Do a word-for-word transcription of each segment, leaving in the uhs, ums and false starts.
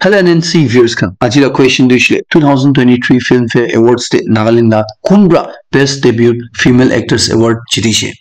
Hello N N C viewers khan. Aji la question tu hoishe le two thousand twenty-three Filmfare Awards te Nagaland la kun pra Best Debut Female Actress Award jiti she.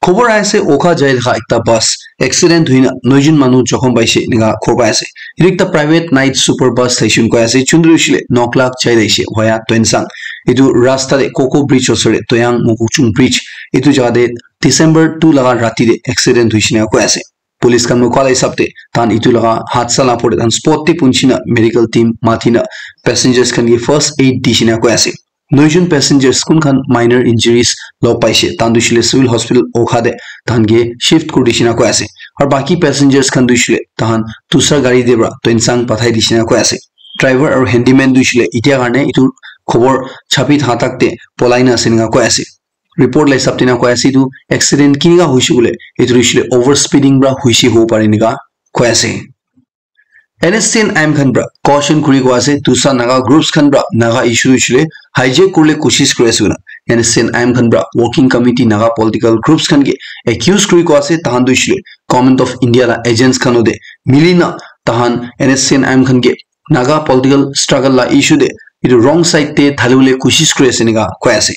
Khobor ase Oka jai thaka ekta bus accident hoina noijun manu jokhom paishe enika khobor ase. Etu ekta private night super bus station koi ase. Chundru shile nok lakh jai daishe via Tuensang. Etu rasta de Koko Bridge osor de Toyang Mokokchung Bridge. Etu jaga de December two laga rati de accident hoishe enika koi ase. Police khan moi koa la hisab te tahan etu laga hadsa la opor te tahan spot te punchina medical team matina passengers khan ke first aid dishina koi ase. Noijun passengers kun khan minor injuries log paishe tahan tu shile civil hospital Oka de tahan ke shift kuri dishina koi ase. Aru baki passengers khan tu shile tahan dusra gari de pra Tuensang pathai dishina koi ase. Driver aru handyman tu shile itia karne etu khobor chapi thaka tak te polai na ase enika koi ase. Report la hisab te na koi ase etu accident kinika hoishe koile etu hoishe le over speeding pra hoishe hobo pare enika koi ase. N S C N I M khan pra caution kuri koi ase tusa Naga groups khan pra Naga issue hoishe le hijack kurle koshish kuri ase koina. N S C N I M khan pra working committee Naga political groups khan ke accuse kuri koi ase tahan tu hoishe le Government of India la agents khan de milina tahan N S C N I M khan ke Naga political struggle la issue de etu wrong side te dhali bole koshish kuri ase enika koi ase.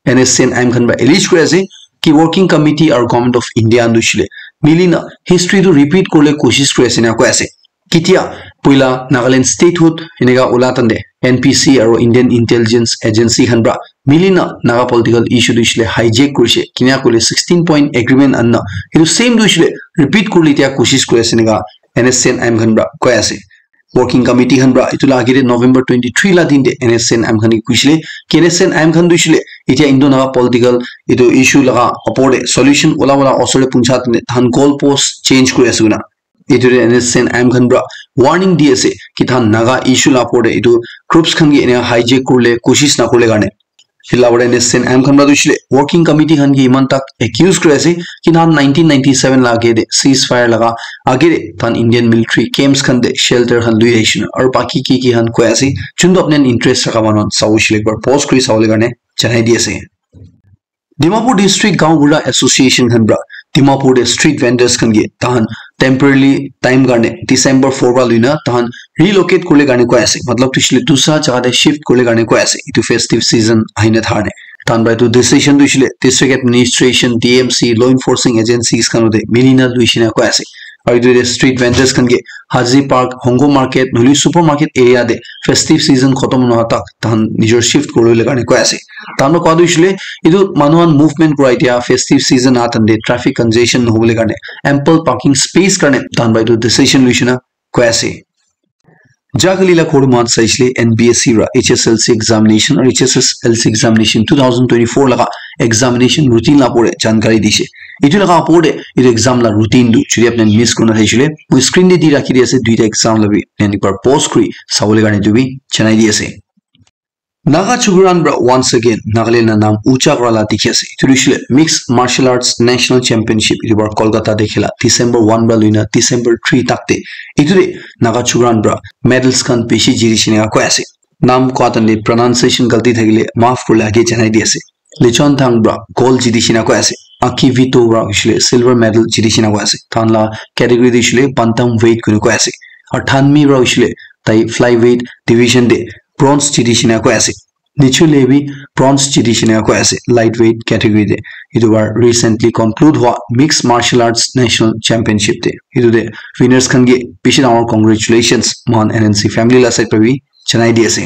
N S C N I M khan pra allege kuri ase ki working committee aru Government of India khan tu hoishe le milina history tu repeat kurle koshish kuri ase enika koi ase. Ketia puila Nagaland statehood enika ula tande N P C aru Indian Intelligence Agency khan pra milina Naga political issue tu hoishe le hijack kurishe kinika koile sixteen point agreement anna etu same tu hoishe le repeat kurle itia koshish kuri ase enika N S C N I M khan pra koi ase. Working committee khan pra etu la age te November twenty-three la din te N S C N I M khan ke koishe le ki N S C N I M khan tu hoishe le itia Indo Naga political etu issue laga opor te solution ula ula osor te puncha tane tahan goal post change kuri ase koina. Etu te N S C N I M khan pra warning di ase ki tahan Naga issue la opor te etu groups khan ke ena hijack kurle koshish na kurle karne. Etu la opor te N S C N I M khan pra tu hoishe le working committee khan ke iman tak accuse kuri ase ki tahan nineteen ninety-seven la age te ceasefire laga age te tahan Indian military camps khan te shelter khan lui ahishe na aru baki ki ki khan koi ase chuntu apni khan interest rakha manu khan sabo hoishe le ekbar pause kuri sabo le karne janai di ase. Dimapur District Gaon Bura Association khan pra Dimapur te street vendors khan ke tahan temporarily time karne December four pra luina tahan relocate kurle karne koi ase. Matlab tu hoishe le dusra jaga te shift kurle karne koi ase. Etu festive season ahina thar ne. Tahan pra etu decision tu hoishe le district administration, D M C, law enforcing agencies khan te milina luishe enika koi ase. Aru etu te street vendors khan ke Hazi Park, Hongo Market, nohole supermarket area te festive season khotom nohoa tak tahan nijor shift kuribole karne koi ase. Tahan pra koa tu hoishe le etu manu khan movement kura itia festive season aha time te traffic congestion nohobole karne ample parking space karne tahan pra etu decision luishe enika koi ase. Jakali la khor mat saishe le N B S C ra H S L C examination aru H S S L C examination two thousand twenty-four laga examination routine la opor te jankari dishe. Etu laga opor te etu exam la routine tu jodi apni khan miss kurina thaishe le moi screen te di rakhi di ase duita exam la bi apni khan ekbar pause kuri sabole karne etu bi janai di ase. Naga chukran pra once again Nagaland la nam ucha kura la dikhi ase. Etu hoishe le Mixed Martial Arts National Championship etu bar Kolkata te khela December one pra luina December three tak te. Etu te Naga chukran pra medals khan bishi jiti shina koi ase. Nam koa time te pronunciation galti thakile maaf kuribole age janai di ase. Lichon Thang pra gold jiti shina koi ase. Aki Vito pra hoishe le silver medal jiti shina koi ase. Tahan la category te hoishe le bantam weight kurina koi ase. Aru Thanmi pra hoishe le tai flyweight division te bronze jiti shina koi ase. Nichule bi bronze jiti shina koi ase lightweight category te. Etu bar recently conclude hua Mixed Martial Arts National Championship te. Etu te winners khan ke bishi dangor congratulations mohan N N C family la side pra bi janai di ase.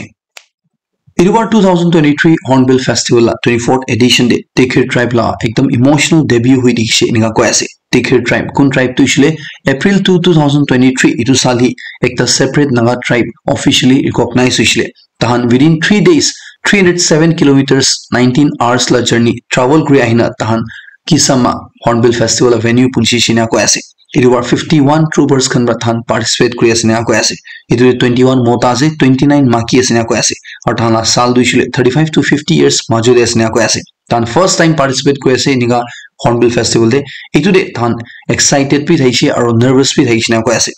Etu bar two thousand twenty-three Hornbill Festival la twenty-fourth edition te Tikhir tribe la ekdam emotional debut hui dikhi she enika koi ase. Tikhir tribe kun tribe tu hoishe le April two, two thousand twenty-three etu saal hi ekta separate Naga tribe officially recognize hoishe le. Tahan within three days, three hundred seven kilometers, nineteen hours la journey travel kuri ahina tahan Kisama Hornbill Festival la venue punchi shina koi ase. Etu bar fifty-one troopers khan pra tahan participate kuri ase enika koi ase. Etu te twenty-one mota ase, twenty-nine maki ase enika koi ase. Aru tahan la saal tu hoishe le thirty-five to fifty years majo te ase enika koi ase. Tahan first time participate kuri ase enika Hornbill Festival te. Etu te tahan excited bi thaishe aru nervous bi thaishe enika koi ase.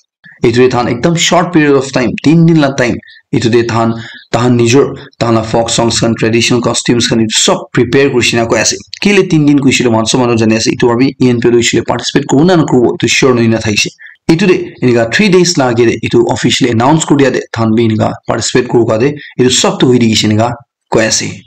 Etu te tahan ekdam short period of time, tin din la time, etu te tahan, tahan nijor, tahan la folk songs khan, traditional costumes khan, etu sob prepare kuri shina koi ase. Kile tin din koishe le moikhan sob manu jani ase, etu para bi E N P L hoishe le participate kuribo na nakuribo, etu sure nohoi na thakishe. Itu de enika three days la age de itu officially announce kuri dia de than bi enika participate kuru ka de itu sob tu hui dikishe enika koi ase.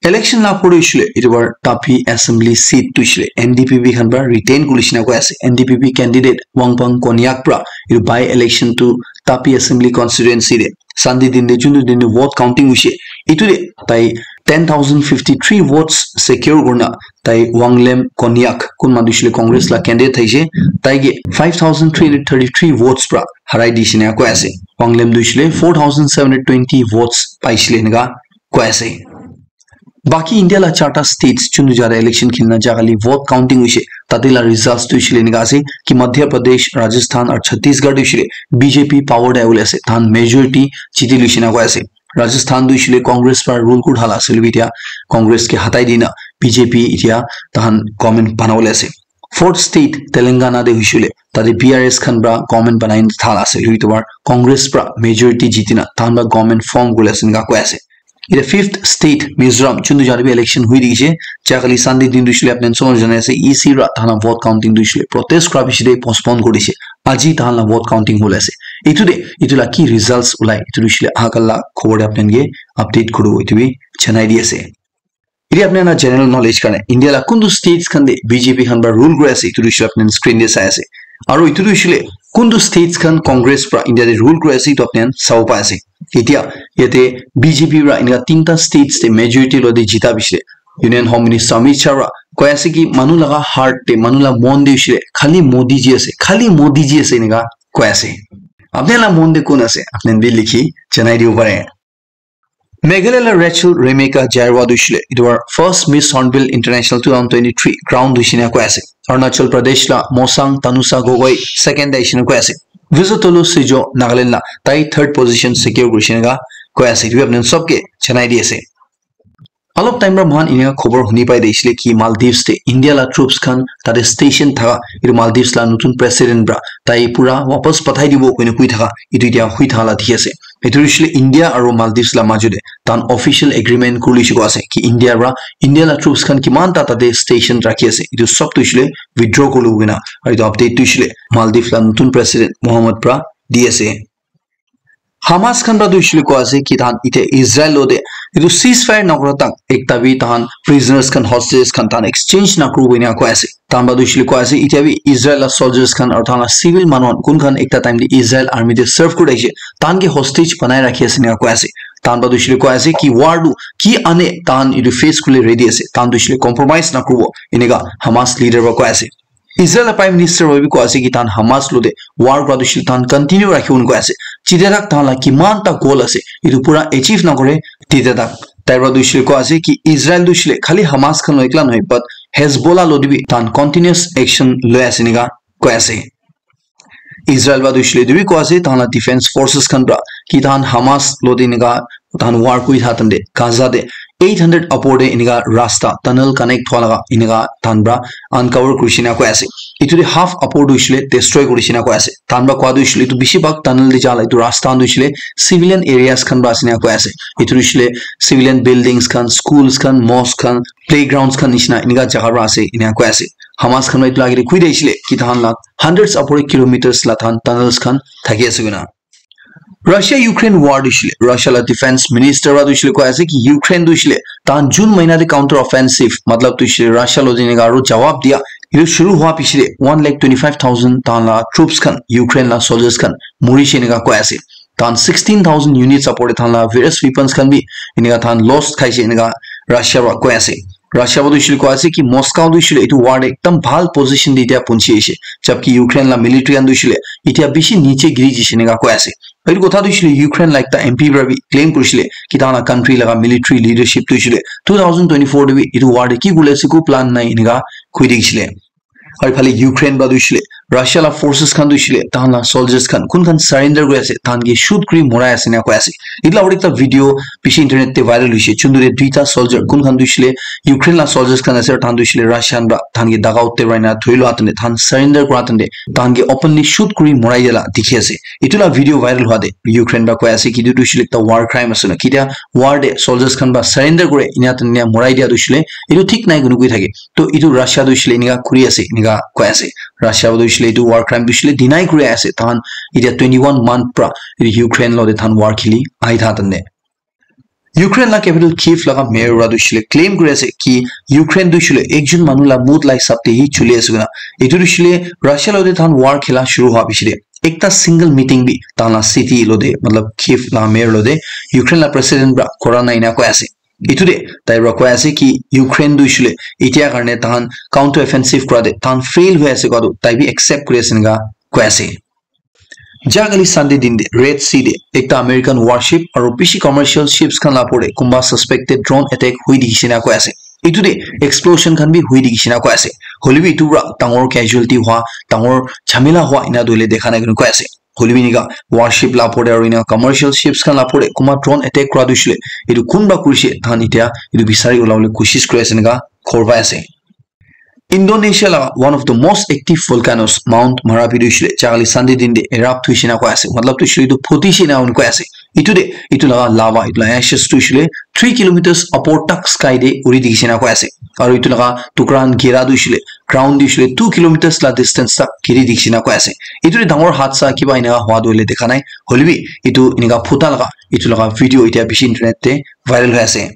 Election la pore hoishile itu bar Tapi assembly seat tu hoishile N D P P khan pra retain kuri shina koi ase. N D P P candidate Wangpang Konyak pra itu by election tu Tapi assembly constituency de Sunday din de juntu din de vote counting hoishe itu de tai ten thousand fifty three votes secure kurna tai Wanglem Konyak kun manu hoishile Congress la candidate thaishe tai ke five thousand three hundred thirty three votes pra harai di shina koi ase. Wanglem tu hoishile four thousand seven hundred twenty votes paishile enika koi ase. Baki India la charta states chunu jara election khilna jaga li vote counting hoishe tate la results tu hoishile enika ase ki Madhya Pradesh, Rajasthan aru Chhattisgarh tu hoishile B J P power te ahibole ase than majority jiti luishe na koi ase. Rajasthan tu hoishile Congress para rule kuri thala ase hoilebi etia Congress ke hatai dina B J P etia tahan government banabole ase. Fourth state Telangana te hoishile tate B R S khan para government banai na thala ase hoilebi etu para Congress para majority jitina tahan para government form kuri ase enika koi ase. Etia fifth state Mizoram chuntu jana bi election hui dikishe jakali Sunday din tu hoishile apni khan sob janai ase E C para tahan la vote counting tu hoishile protest kura bishi de postpone kuri dishe aji tahan la vote counting hole ase. Etu de etu la ki results ulai etu tu hoishile aha kala khobor de apni khan ke update kuru etu bi janai di ase. Etia apni khan la general knowledge karne India la kuntu states khan de B J P khan para rule kuri ase etu tu hoishile apni khan screen de sai ase. Aru etu tu hoishile kuntu states khan Congress para India de rule kuri ase etu apni khan sabo pai ase. Etia yate B J P para enika tinta states te majority lo de jita bishi de Union Home Minister Amit Shah para koi ase ki manu laga heart te manu la mon de hoishile khali Modi ji ase khali Modi ji ase enika koi ase. Apni khan la mon de kun ase apni khan bi likhi janai dibo pare. Meghalaya la Rachel Remeka Jaiwa tu hoishile etu para first Miss Hornbill International two thousand twenty-three crown tu hoishina koi ase. Arunachal Pradesh la Mosang Tanusa Gogoi second de hoishina koi ase. Vizotolu Sijo Nagaland la tai third position secure kuri shina koi ase. Etu bi apni khan sob ke janai di ase. Alop time para moikhan enika khobor huni pai de hoishile ki Maldives te India la troops khan tate station thaka etu Maldives la notun president para tai pura wapas pathai dibo koina koi thaka etu etia hui thaka la dikhi ase. Etu hoishile India aru Maldives la majo de tahan official agreement kuri lishe koi ase ki India para India la troops khan kiman ta tate station rakhi ase etu sob tu hoishile withdraw kuri lo koina aru etu update tu hoishile Maldives la notun president Mohammed para di ase. Hamas khan para tu hoishile koi ase ki tahan ite Israel lo de etu ceasefire nakura tak ekta bi tahan prisoners khan hostages khan tahan exchange nakuru koina koi ase. Tahan para tu hoishile koi ase etia bi Israel la soldiers khan aru tahan la civil manu khan kun khan ekta time de Israel army de serve kuri ase tahan ke hostage banai rakhi ase enika koi ase. Tahan para tu hoishile koi ase ki war tu ki ane tahan etu face kuri le ready ase tahan tu hoishile compromise nakuribo enika Hamas leader para koi ase. Israel la Prime Minister para bi koi ase ki tahan Hamas lo de war kura tu hoishile tahan continue rakhibo koi ase. Jite tak tahan la kiman ta goal ase etu pura achieve nakore tite tak tai para tu hoishile koi ase ki Israel tu hoishile khali Hamas khan lo ekla nohoi but Hezbollah lo de bi tahan continuous action loi ase enika koi ase. Israel para tu hoishile etu bi koi ase tahan la defense forces khan para ki tahan Hamas lo de enika tahan war kuri tha tande Gaza de eight hundred upor de enika rasta tunnel connect thwa laga enika tahan para uncover kuri shina koi ase. Etu de half upor tu hoishile destroy kuri shina koi ase. Tahan para koi tu hoishile etu bishi bhag tunnel de jala etu rasta tu hoishile civilian areas khan para ase enika koi ase. Etu tu hoishile civilian buildings khan, schools khan, mosque khan, playgrounds khan nishina enika jaga para ase enika koi ase. Hamas khan para etu la age de koi de hoishile ki tahan la hundreds upor kilometers la tahan tunnels khan thaki ase koina. Russia Ukraine war tu hoishile Russia la defense minister para tu hoishile koi ase ki Ukraine tu hoishile tahan June mahina de counter offensive matlab tu hoishile Russia lo de enika aru jawab dia etu shuru hua piche de one lakh twenty five thousand tahan la troops khan Ukraine la soldiers khan muri she enika koi ase. Tahan sixteen thousand units upor de tahan la various weapons khan bi enika tahan lost khai she enika Russia para koi ase. Russia para tu hoishile koi ase ki Moscow tu hoishile etu war de ekdam bhal position de etia punchi ase jabki Ukraine la military khan tu hoishile etia bishi niche giri jishe enika koi ase. Etu kotha tu hoishile Ukraine la ekta M P para bi claim kurishile ki tahan la country laga military leadership tu hoishile two thousand twenty-four de bi etu war de ki kuri ase eku plan nai enika koi dikishile. Aru phale Ukraine para tu hoishile Russia la forces khan tu hoishile tahan la soldiers khan kun khan surrender kuri ase tahan ke shoot kuri morai ase enika koi ase. Etu la aru ekta video bishi internet te viral hoishe chuntu de duita soldier kun khan tu hoishile Ukraine la soldiers khan ase aru tahan tu hoishile Russian para tahan ke daga utte para ena thoi lua tande tahan surrender kura tande tahan ke openly shoot kuri morai dia la dikhi ase. Etu la video viral hua de Ukraine para koi ase ki etu tu hoishile ekta war crime ase na ki etia war de soldiers khan para surrender kure ena tande morai dia tu hoishile etu thik nai kunu koi thake. To etu Russia tu hoishile enika kuri ase enika koi ase. Russia tu hoishe le etu war crime tu hoishe le deny kuri ase, tahan etia twenty one month pra etu Ukraine lo de tahan war kheli ahi tha tande. Ukraine la capital Kyiv laga mayor ra tu hoishe le claim kuri ase ki Ukraine tu hoishe le ekjon manu la mood la hisab te hi chuli ase koina. Etu tu hoishe le Russia lo de tahan war khela shuru hwa piche de ekta single meeting bi tahan la city lo de, matlab Kyiv la mayor lo de Ukraine la president pra kora nai ena koi ase. Etu de tai pra koi ase ki Ukraine tu hoishe le etia karne tahan counter offensive kora de tahan fail hoi ase koa tu tai bi accept kuri ase ena koi ase. Ja kali Sunday din de Red Sea de ekta American warship aru bishi commercial ships khan la opor de kunba suspected drone attack hui dikhi shina koi ase. Etu de explosion khan bi hui dikhi shina koi ase. Hoile bi etu pra dangor casualty hua, dangor jhamela hua ena tu hoile dekha nai koi ase. Hoile bi enika warship la opor de aru ena commercial ships khan la opor de kunba drone attack kura tu hoishe le etu kunba kurishe tahan etia etu bisari ulabole koshish kuri ase ena khobor pai ase. Indonesia laga one of the most active volcanoes Mount Marapi tu hoishe le ja kali Sunday din de erupt hoishe na koi ase. Matlab tu hoishe le etu phutishe na koi ase. Etu de etu laga lava, etu laga ashes tu hoishe le three kilometers upper tak sky de uri dikhi shina koi ase. Aru etu laga tukra khan gira tu hoishe le ground tu hoishe le two kilometers la distance tak giri dikhi shina koi ase. Etu de dangor hadsa kiba ena hua tu hoile dekha nai. Hoile bi etu enika phuta laga etu laga video etia bishi internet te viral hoi ase.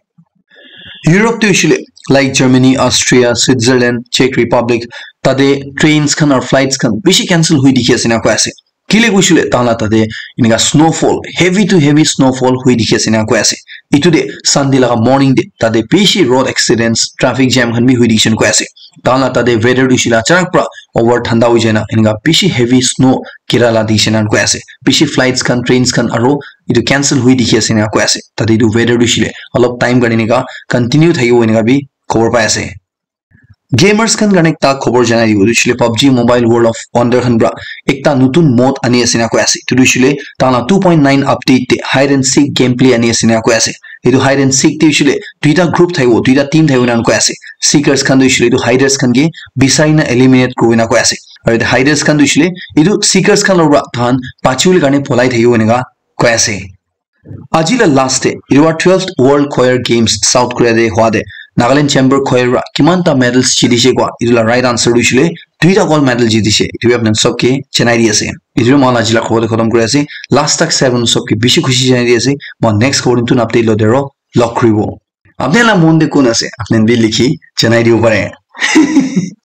Europe te hoishe le like Germany, Austria, Switzerland, Czech Republic, tate trains khan aru flights khan bishi cancel hui dikhi ase ena koi ase. Kile koishe le tahan la tate enika snowfall, heavy to heavy snowfall hui dikhi ase ena koi ase. Etu de Sunday laga morning de tate bishi road accidents, traffic jam khan bi hui dikhi ase ena koi ase. Tahan la tate weather tu hoishe le achanak pra over thanda hoi jai na enika bishi heavy snow gira la dikhi ase ena koi ase. Bishi flights khan, trains khan aru etu cancel hui dikhi ase ena koi ase. Tate etu weather tu hoishe le olop time karne enika continue thakibo enika bi khobor pai ase. Gamers khan karne ekta khobor janai dibo, etu hoishe le PUBG Mobile World of Wonder khan pra ekta notun mode ani ase ena koi ase. Etu tu hoishe le tahan la two point nine update te hide and seek gameplay ani ase ena koi ase. Etu hide and seek te hoishe le duita group thakibo, duita team thakibo ena koi ase. Seekers khan tu hoishe le etu hiders khan ke bisai na eliminate kuribo ena koi ase. Aru etu hiders khan tu hoishe le etu seekers khan lor pra tahan bachibole karne polai thakibo enika koi ase. Aji la last te, etu para twelfth World Choir Games South Korea te hua te, Nagaland Chamber Choir para kiman ta medals jiti se koa, etu la right answer tu hoishe le, duita gold medal jiti se, etu bi apni khan sob ke janai di ase. Etu bi moi khan aji la khobor te khatam kuri ase, last tak sai apni khan sob ke bishi khushi janai di ase, moi khan next khobor notun update lo te aro log kuribo. Apni khan la mon te kun ase, apni khan bi likhi janai dibo pare.